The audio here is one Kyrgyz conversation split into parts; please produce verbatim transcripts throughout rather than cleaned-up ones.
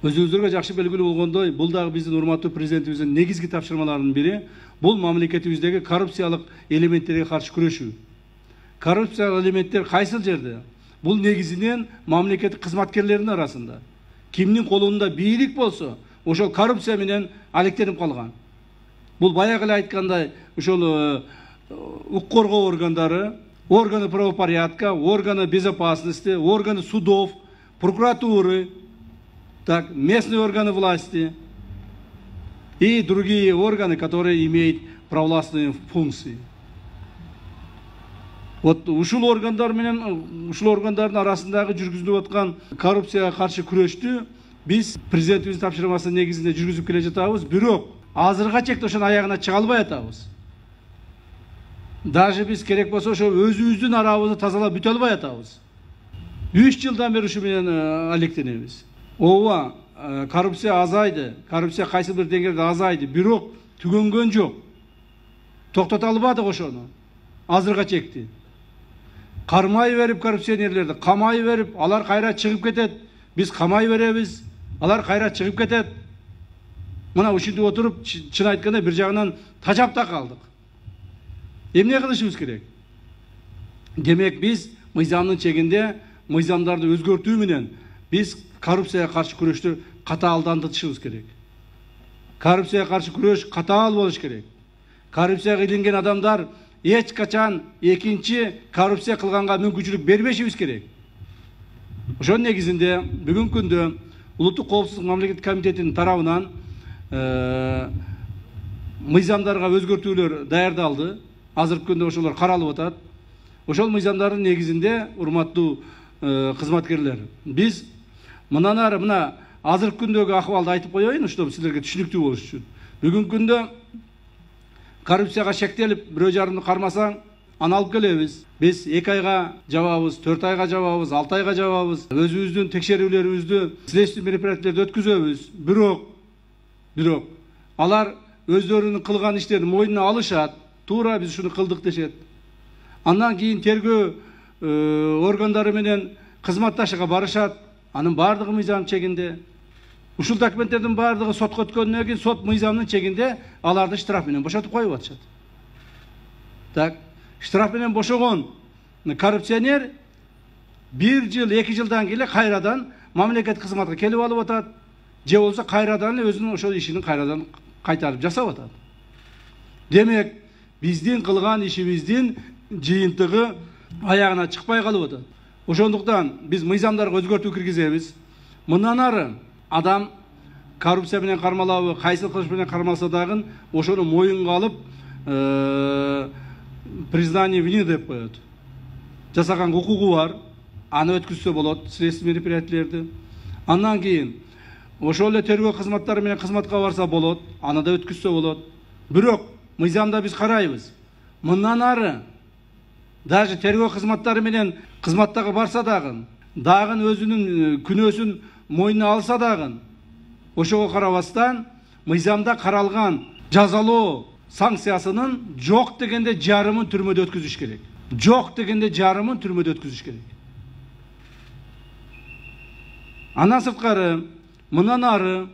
Өзүңүздөргө жакшы белгилүү болгондой, бул дагы биздин урматтуу президентибиздин негизги тапшырмаларынын бири бул мамлекетибиздеги коррупциялык элементтерге каршы күрөшүү. Коррупциялык элементтер кайсыл жерде? Бул негизинен мамлекеттик кызматкерлердин арасында. Кимдин колунда бийлик болсо, ошол коррупция менен алектенип калган. Бул баягы эле айткандай, ошол укук коргоо органдары, органы правопорядка, органы безопасности, органы судов, прокуратуры, так, местные органы власти и другие органы, которые имеют провластные функции. Вот ушул органдар менен ушул органдардын арасындагы жүргүзүлүп аткан коррупцияга каршы күрөштү биз президентибиздин тапшырмасы негизинде жүргүзүп келе жатабыз, бирок азыркыга чейин ошонун аягына чыга албай атабыз. Даже биз керек болсо ошо өзүбүздүн арабызды тазалап бүтө албай атабыз. үч жылдан бери ушу менен алектенебиз. Ооба, коррупция азайды, коррупция кайсы бир деңгээлде азайды, бирок түгөнгөн жок. Токтото албадык ошону. Азыркыга чейин кармай берип коррупционерлерди, камай берип, алар кайра чыгып кетет. Биз камай беребиз, алар кайра чыгып кетет. Мына ушинтип отуруп, чын айтканда бир жагынан тажап да калдык. Эмне кылышыбыз керек? Демек биз мыйзамдын чегинде мыйзамдарды өзгөртүү менен биз коррупцияга каршы күрөштү катаалдандырышыбыз керек. Коррупцияга каршы күрөш катаал болуш керек. Коррупцияга илинген адамдар эч качан экинчи коррупция кылганга мүмкүнчүлүк бербешибиз керек. Ошонун негизинде бүгүнкү күндө Улуттук коопсуздук мамлекеттик комитетинин тарабынан мыйзамдарга өзгөртүүлөр даярдалды. Азыркы күндө ошолор каралып атат. Ошол мыйзамдардын негизинде урматтуу кызматкерлер, биз мындан ары мына азыркы күндөгү акыбалды айтып коеюн, ушул силерге түшүнүктүү болуш үчүн. Бүгүнкү күндө коррупцияга шектелип, бирөө жарымды кармасаң, аны алып келебиз. Биз эки айга жабабыз, төрт айга жабабыз, алты айга жабабыз. Өзүбүздүн текшерүүлөрүбүздү, следственный мероприятиялерди өткүзөбүз. Бирок, бирок алар өздөрүнүн кылган иштерин мойнуна алышат. Туура биз ушуну кылдык дешет. Андан кийин тергөө органдары менен кызматташууга барышат. Анын баардыгы мыйзам чегинде. Ушул документтердин баардыгы сотко өткөндөн кийин сот мыйзамдын чегинде аларды штраф менен бошотуп коюп атышат. Так, штраф менен бошогон коррупционер бир жыл, эки жылдан кийин кайрадан мамлекеттик кызматка келип алып атат. Же болсо кайрадан эле өзүнүн ошол ишин кайрадан кайтарып жасап атат. Демек, биздин кылган ишибиздин жыйынтыгы аягына чыкпай калып атат. Ошондуктан биз мыйзамдарга өзгөртүү киргизебиз. Мындан ары адам коррупция менен кармалабы, кайсы кылыш менен кармалса дагы ошону моюнга алып, признание вины деп коет. Жасаган укугу бар, аны өткүзсө болот, следственный мероприятиялерди. Андан кийин ошол эле тергөө кызматтары менен кызматка барса болот, аны да өткүзсө болот. Бирок мыйзамда биз карайбыз. Мындан ары даже тергөө кызматтары менен кызматтага барса дагы, дагы өзүнүн күнөөсүн мойнуна алса дагы, ошого карабастан мыйзамда каралган жазалоо санкциясынын жок дегенде жарымын түрмөдө өткүзүш керек. Жок дегенде жарымын түрмөдө өткүзүш керек. Андан сырткары, мындан ары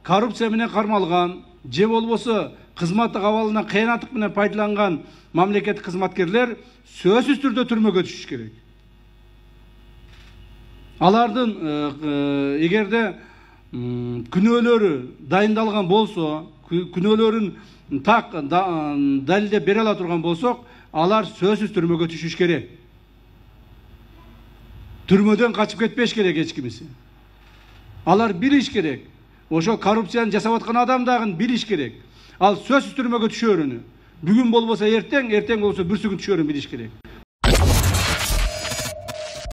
коррупция менен кармалган, же болбосо кызматтык абалынан кыянаттык менен пайдаланган мамлекеттик кызматкерлер сөзсүз түрдө түрмөгө түшүш керек. Алардын эгерде күнөөлөрү дайындалган болсо, күнөөлөрүн так далилдеп бере ала турган болсок, алар сөзсүз түрмөгө түшүш керек. Түрмөдөн качып кетпеш керек эч кимиси. Алар билиш керек. Ошо коррупцияны жасап аткан адам дагы билиш керек. Ал сөзсүз түрмөгө түшөрүнү, бүгүн болбосо эртең, эртең болбосо бүрсүгүн түшөрүн билиш керек.